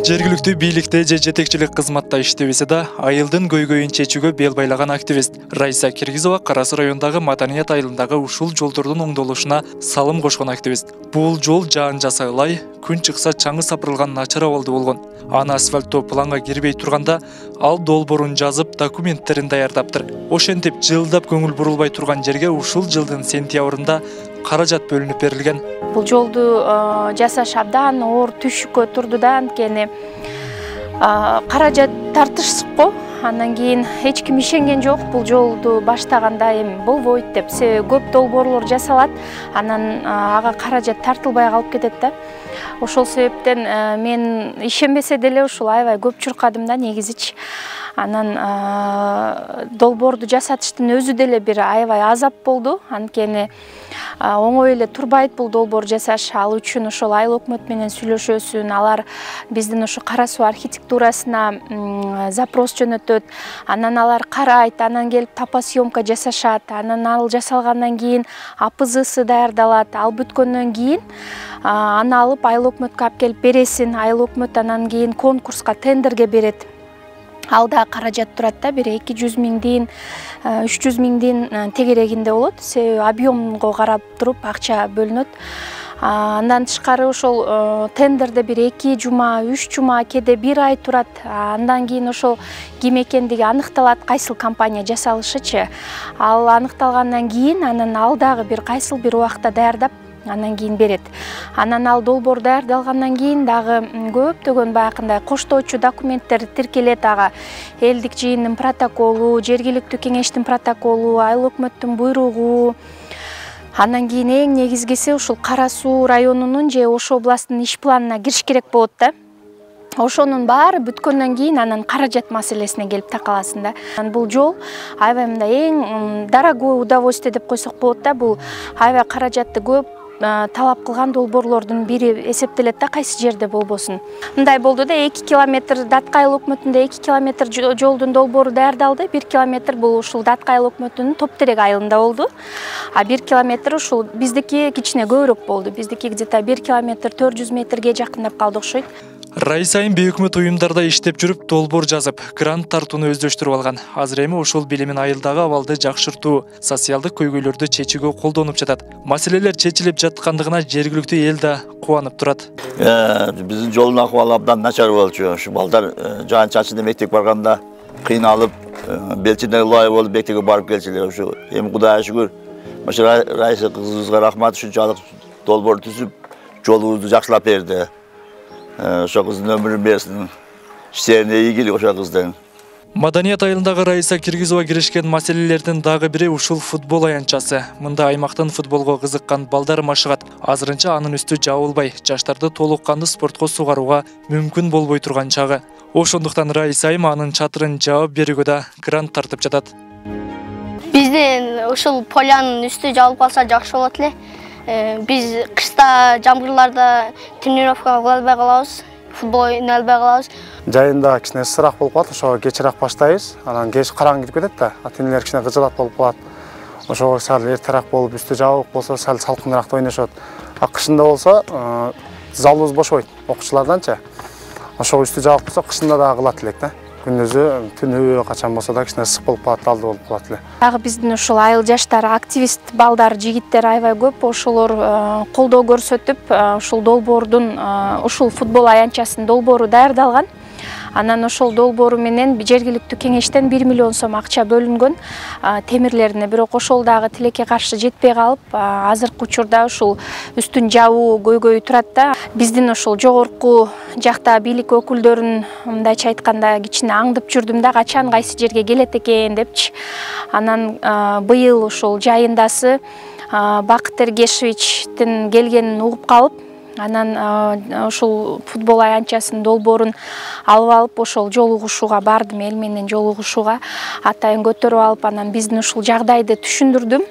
Жергиликтүү бийликте же жетекчилик кызматта иштебесе да, айылдын көйгөйүн чечүүгө бел байлаган активист Раиса Киргизова Карасы районундагы Маданият айылындагы ушул жолдордун оңдолушуна салым кошкон активист. Бул жол жаан жаса ылай, күн чыкса чаңы сапырылган начар абалда болгон. Аны асфальттоо планга кирбей турганда, ал долбоорун жазып, документтерин даярдаптыр. Ошентип жылдап көңүл бурулбай турган жерге ушул жылдын сентябрында каражат бөлүнүп берилген. Бул жолду жасаш абдан оор түшүккө турду да, анткени каражат тартышсык го. Андан кийин эч ким ишенген жок бул жолду баштаганда эми болбойт деп. Себеби көп долбоорлор жасалат, анан ага каражат тартылбай калып кетет да. Ошол себептен мен ишенбесе деле ушул аябай көп чуркадым да негизичи. Анан долбоорду жасатыштын өзү деле бир аябай азап болду. Анткени оңой эле турбайт бул долбоор жасаш. Ал үчүн ошол айыл өкмөт менен сүйлөшөсүн, алар биздин ушу Кара суу архитектурасына запрос жөнөтөт. Анан алар карайт, анан келип топосъемка жасашат. Анан ал жасалгандан кийин АПЗсы даярдалат. Ал бүткөндөн кийин аны алып айыл өкмөткө алып келип бересин. Айыл өкмөт анан кийин конкурска, тендерге берет. Ал да каражат турат да, бир 200 миңдин, 300 миңдин тегерегинде болот. Себеби объемго карап туруп акча бөлүнөт. Андан тышкары ошол тендерде бир 2 жума, 3 жума, кээде 1 ай турат. Андан кийин ошол ким экендиги аныкталат, кайсыл компания жасалышычы. Ал аныкталгандан кийин анан ал дагы бир кайсыл бир убакта даярдап, андан кийин берет. Анан ал долбоор даярдалгандан кийин дагы көптөгөн баягындай коштоочу документтер тиркелет. Ага элдик жыйындын протоколу, жергиликтүү кеңештин протоколу, айыл өкмөттүн буйругу. Андан кийин эң негизгиси ушул Кара суу районунун же Ош областынын иш планына кириш керек болот да. Ошонун баары бүткөндөн кийин анан каражат маселесине келип такаласың да. Бул жол аябай мындай эң дорогое удовольствие деп койсок болот да. Бул аябай каражатты көп талап кылган долбоорлордун бири эсептелет да, кайсы жерде болбосун. Мындай болду да, 2 километр Датка айыл өкмөтүндө 2 километр жолдун долбоору даярдалды. 1 километр бул ушул Датка айыл өкмөтүнүн Топтерек айылында болду. А 1 километр ушул биздики кичине көбүрөөк болду. Биздики где-то 1 километр 400 метрге жакындап калды окшойт. Раиса айым бейөкмөт уюмдарда иштеп жүрүп, долбоор жазып, грант тартууну өздөштүрүп алган. Азыр эми ошол билимин айылдагы абалды жакшыртуу, социалдык көйгөйлөрдү чечүүгө колдонуп жатат. Маселелер чечилип жаткандыгына жергиликтүү эл да кубанып турат. Биздин жолдун акыбалы абдан начар болчу. Ушу балдар жаан-чачында мектепке барганда кыйналып, белчине ылай болуп мектепке барып келчүлөр. Ушу эми Кудайга шүгүр, ошо Раиса кызыбызга рахмат, ушунчалык долбоор түзүп, жолубузду жакшылап берди. Ошо кыздын өмүрүн берсин, иштерине ийгилик ошо кыздын. Маданият айылындагы Раиса Киргизова киришкен маселелердин дагы бири ушул футбол аянтчасы. Мында аймактын футболго кызыккан балдар машыгат. Азырынча анын үстү жабылбай, жаштарды толук кандуу спортко сугарууга мүмкүн болбой турган чагы. Ошондуктан Раиса айым анын чатырын жаап берүүгө да грант тартып жатат. Биздин ушул полянын үстү жабылып калса жакшы болот эле. Биз кышта жамгырларда тренировка кыла албай калабыз, футбол ойнай албай калабыз. Жайында кичине ысыраак болуп калат, ошого кечирээк баштайбыз. Анан кеч караң кирип кетет да, атинелер кичине кыжылат болуп калат. Ошого сал эртерээк болуп, үстү жабык болсо сал салкыныраак ойношот. А кышында болсо залыбыз бошобойт окуучуларданчы. Ошого үстү жабык болсо кышында да кылат элек да. Күнүзү, түнү качан болсо да кичине ысык болуп калат, талды болуп калат эле. Дагы биздин ушул айыл жаштары, активист балдар, жигиттер аябай көп. Ошолор колдоо көрсөтүп, ушул долбоордун, ушул футбол аянтчасынын долбоору даярдалган. Анан ошол долбоору менен жергиликтүү кеңештен 1 миллион сом акча бөлүнгөн темирлерине. Бирок ошол дагы тилекке каршы жетпей калып, азыркы учурда ушул үстүн жабуу көйгөйү турат да. Биздин ошол жогорку жакта бийлик өкүлдөрүн мындайча айтканда кичине аңдып жүрдүм да, качан кайсы жерге келет экен депчи. Анан быйыл ошол жайындасы Бакыт Эргешевичтин келгенин угуп калып, анан ошол футбол аянтчасынын долбоорун алып алып, ошол жолугушууга бардым, эл менен жолугушууга атайын көтөрүп алып, анан биздин ушул жагдайды түшүндүрдүм.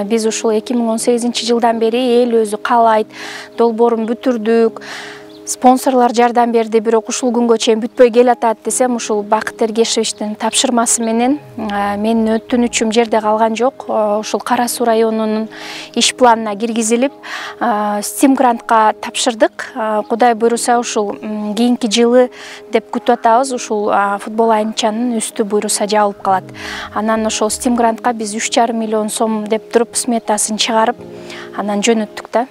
Биз ушул 2018 жылдан бери эл өзү каалайт, долбоорун бүтүрдүк. спонсорлор жардам берди, бирок ушул күнгө чейин бүтпөй келатат десем, ушул Бакыт Эргешевичтин тапшырмасы менен менин өтүнүчүм жерде калган жок. Ушул Кара Суу районунун иш планына киргизилип, STEM грантка тапшырдык. Кудай буйруса, ушул кийинки жылы деп күтүп атабыз, ушул футбол айынчанын үстү буйруса жабылып калат. Анан ошол STEM грантка биз 3,5 миллион сом деп туруп сметасын чыгарып, анан жөнөттүк да.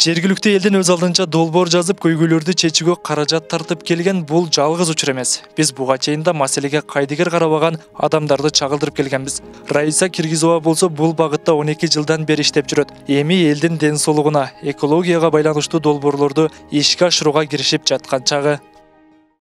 Жергиликтүү элдин өз алдынча долбоор жазып, көйгөйлөрдү чечүүгө каражат тартып келген бул жалгыз учур эмес. Биз буга чейин да маселеге кайдыгер карабаган адамдарды чагылдырып келгенбиз. Раиса Киргизова болсо бул багытта 12 жылдан бери иштеп жүрөт. Эми элдин ден соолугуна, экологияга байланыштуу долбоорлорду ишке ашырууга киришип жаткан чагы.